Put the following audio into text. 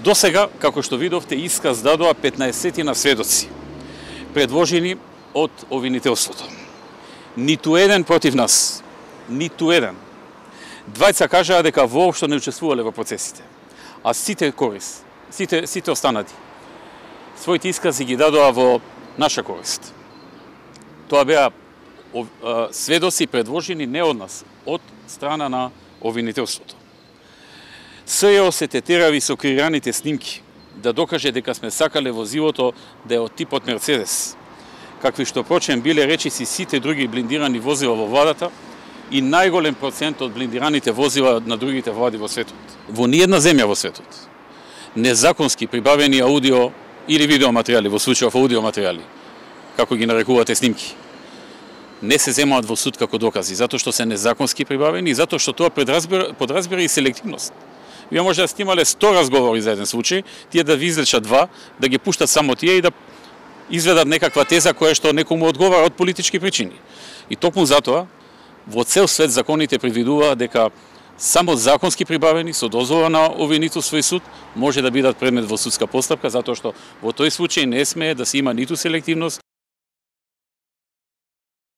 До сега, како што видовте, исказ дадоа 15 сведоци, предложени од обвинителството. Ниту еден против нас, ниту еден. Двајца кажаа дека воопшто не учествувале во процесите, а сите останати своите искази ги дадоа во наша корист. Тоа беа сведоци предложени не од нас, од страна на обвинителството. СЈО се тетирави со креираните снимки да докаже дека сме сакале возилото да е од типот Мерцедес, какви што прочем биле речиси сите други блиндирани возила во владата и најголем процент од блиндираните возила на другите влади во светот. Во ниедна земја во светот незаконски прибавени аудио или видеоматеријали, во случајов аудиоматеријали, како ги нарекувате снимки, не се земаат во суд како докази, затоа што се незаконски прибавени и затоа што тоа подразбира и селективност. Вие може да снимале 100 разговори за еден случај, тие да ви излечат 2, да ги пуштат само тие и да изведат некаква теза која што некому одговара од политички причини. И токму затоа, во цел свет законите предвидуваат дека само законски прибавени со дозвола на обвинителство и суд може да бидат предмет во судска постапка, затоа што во тој случај не смее да се има ниту селективност,